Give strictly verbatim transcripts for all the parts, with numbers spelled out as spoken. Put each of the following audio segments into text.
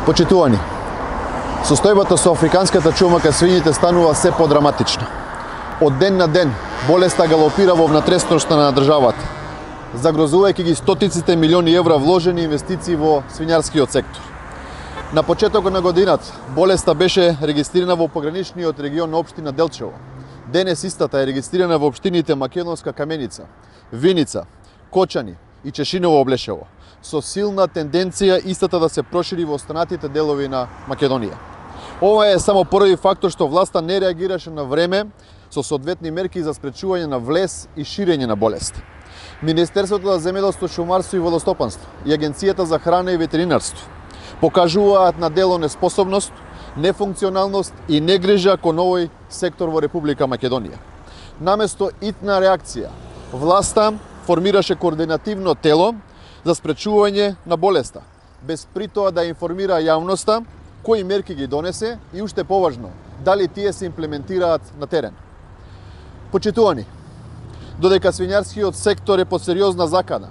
Почитувани, состојбата со африканската чума кај свињите станува се подраматична. Од ден на ден болеста галопира во внатрешноста на државата, загрозувајќи ги стотиците милиони евра вложени инвестиции во свињарскиот сектор. На почетокот на годината болеста беше регистрирана во пограничниот регион на општина Делчево. Денес истата е регистрирана во општините Македонска Каменица, Виница, Кочани и Чешиново Облешево, со силна тенденција истата да се прошири во останатите делови на Македонија. Ова е само први фактор што власта не реагираше на време со соодветни мерки за спречување на влез и ширење на болест. Министерството за земјоделство, шумарство и водостопанство и Агенцијата за храна и ветеринарство покажуваат на дело неспособност, нефункционалност и негрижа кон овој сектор во Република Македонија. Наместо итна реакција, власта формираше координативно тело за спречување на болеста, без при тоа да информира јавноста кои мерки ги донесе и уште поважно, дали тие се имплементираат на терен. Почитувани, додека свињарскиот сектор е под сериозна закана,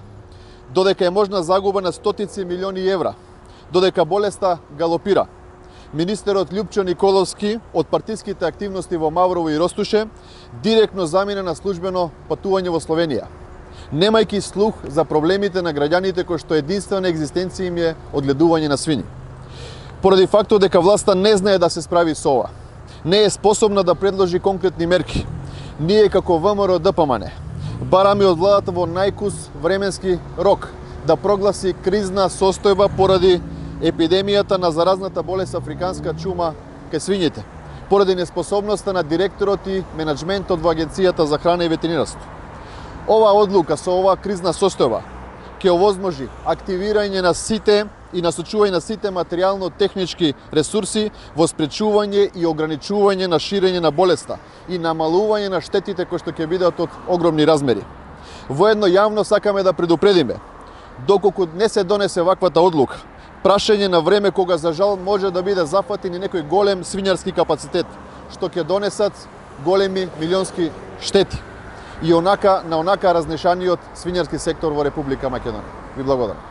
додека е можна загуба на стотици милиони евра, додека болеста галопира, министерот Љупчо Николовски од партиските активности во Маврово и Ростуше директно замина на службено патување во Словенија, немајќи слух за проблемите на граѓаните кои што единствена екзистенција им е одгледување на свињи. Поради фактот дека власта не знае да се справи со ова, не е способна да предложи конкретни мерки, ние како ВМРО Д П М Н бараме од владата во најкус временски рок да прогласи кризна состојба поради епидемијата на заразната болест африканска чума кај свињите, поради неспособноста на директорот и менаџментот во Агенцијата за храна и ветеринарство. Ова одлука со ова кризна состојба ќе овозможи активирање на сите и насочување на сите материјално-технички ресурси во спречување и ограничување на ширење на болеста и намалување на штетите кои што ќе бидат од огромни размери. Воедно јавно сакаме да предупредиме, доколку не се донесе ваквата одлука, прашање на време кога за жал може да биде зафатен и некој голем свињарски капацитет, што ќе донесат големи милионски штети и онака на онака разнешаниот свињарски сектор во Република Македонија. Ви благодарам.